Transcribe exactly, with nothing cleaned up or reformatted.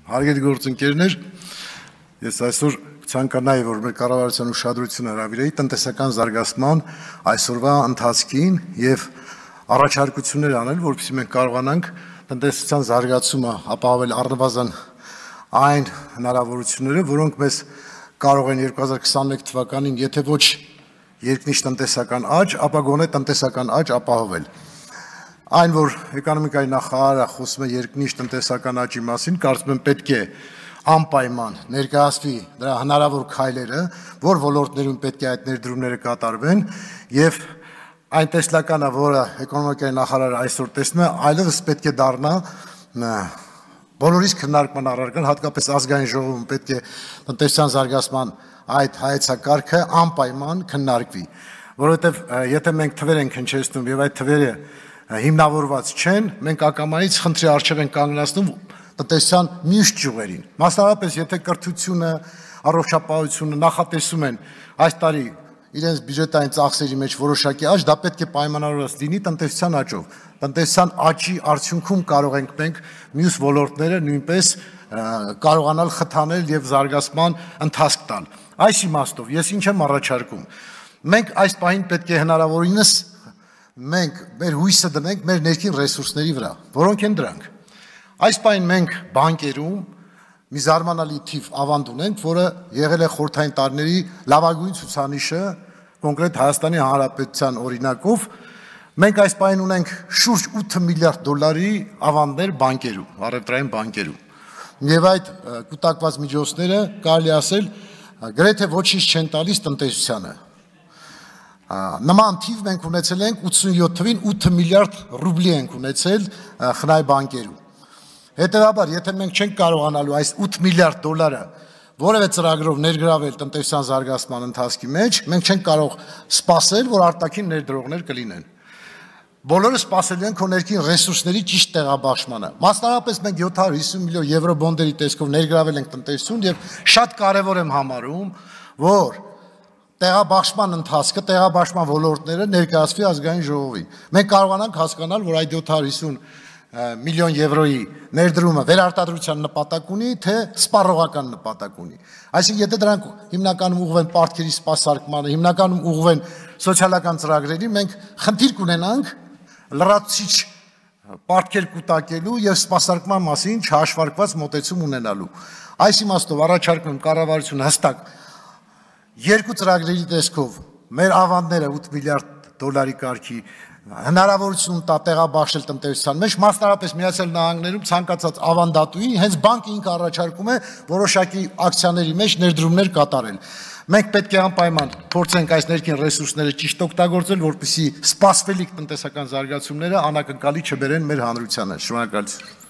Հարգելի գործընկերներ, ես այսօր ցանկանայի, որ մեր կառավարության ուշադրությունը հրավիրեի տնտեսական զարգացման այսօրվա ընթացքին եւ առաջարկություններ անել, որպեսզի մենք կարողանանք տնտեսության զարգացումը ապահովել առնվազն այն հնարավորությունները, որոնք մեզ կարող են երկու հազար քսաներեք թվականին, եթե ոչ երկնիշ տնտեսական աճ, ապա գոնե տնտեսական աճ ապահովել։ Այն, որ էկոնոմիկայի նախարարը խոսում է երկնիշ տնտեսական աճի մասին, կարծում եմ պետք է անպայման ներկայացվի դրա հնարավոր քայլերը, որ ոլորտներում պետք է այդ ներդրումները կատարվեն, եւ այն տեսլականը, որը էկոնոմիկայի նախարարը այսօր տեսնում է, այլևս պետք է դառնա բոլորիս քննարկման առարկան, հատկապես ազգային ժողովում պետք է տնտեսության զարգացման այդ հայեցակարգը անպայման քննարկվի, որովհետեւ եթե մենք թվեր ենք հնչեցնում եւ այդ թվերը հիմնավորված չեն, մենք ակամայից խնդրի առջև են կանգնացնում տնտեսության մյուս ճյուղերին։ Մասնավորապես, եթե կրթությունը, առողջապահությունը նախատեսում են այս տարի իրենց բյուջետային ծախսերի մեջ որոշակի աճ, դա պետք է պայմանավորված լինի տնտեսության աճով։ Տնտեսության աճի արդյունքում կարող ենք մենք մյուս ոլորտները նույնպես կարողանալ խթանել եւ զարգացման ընթացք տալ։ Այս իմաստով ես ինչ եմ առաջարկում։ Մենք այս պահին պետք է հնարավորինս մենք մեր հույսը դնենք մեր ներքին ռեսուրսների վրա, որոնք են դրանք։ Այս պահին մենք բանկերում մի զարմանալի թիվ ավանդ ունենք, որը եղել է խորհրդային տարիների լավագույն ցուցանիշը, կոնկրետ Հայաստանի Հանրապետության օրինակով, մենք այս պահին ունենք շուրջ ութ միլիարդ դոլարի ավանդներ բանկերում, առևտրային բանկերում։ Եվ այդ կուտակված միջոցները կարելի ասել գրեթե ոչինչ չեն տալիս տնտեսությանը։ Նման թիվ մենք ունեցել ենք ութսունյոթ թվին ութ միլիարդ ռուբլի ենք ունեցել խնայ բանկերում։ Հետևաբար, եթե մենք չենք կարողանալու այս ութ միլիարդ դոլարը որևէ ծրագրով ներգրավել տնտեսության զարգացման ընթացքի մեջ, մենք չենք կարող սպասել, որ արտաքին ներդրողներ կլինեն։ Բոլորը սպասելու են քո ներքին ռեսուրսների ճիշտ տեղաբաշխմանը։ Մասնավորապես մենք յոթ հարյուր հիսուն միլիոն եվրո բոնդերի տեսքով ներգրավել ենք տնտեսություն եւ շատ կարեւոր եմ համարում, որ տեղաբաշխման ընթացքը, տեղաբաշխման ոլորտները ներկայացվի ազգային ժողովին։ Մենք կարողանանք հասկանալ, որ այդ յոթ հարյուր հիսուն միլիոն եվրոյի ներդրումը վերարտադրության նպատակ ունի, թե սպառողական նպատակ ունի։ Այսինքն, եթե դրանք հիմնականում ուղղվեն պարտքերի սպասարկմանը, հիմնականում ուղղվեն սոցիալական ծրագրերի, մենք խնդիր կունենանք լրացուցիչ պարտքեր կուտակելու եւ սպասարկման մասին չհաշվարկված մոտեցում ունենալու։ Այս իմաստով առաջարկում եմ կառավարությունը հստակ երկու ծրագրերի տեսքով մեր ավանդները ութ միլիարդ դոլարի կարգի հնարավորություն տա տեղաբաշխել տնտեսության մեջ, մասնավորապես Միացյալ Նահանգներում ցանկացած ավանդատուի հենց բանկը ինքը առաջարկում է որոշակի ակցիաների մեջ ներդրումներ կատարել։ Մենք պետք է անպայման փորձենք այս ներքին ռեսուրսները ճիշտ օգտագործել, որպեսզի սպասվելիք տնտեսական զարգացումները անակնկալի չբերեն մեր հանրությանը։ Շնորհակալություն։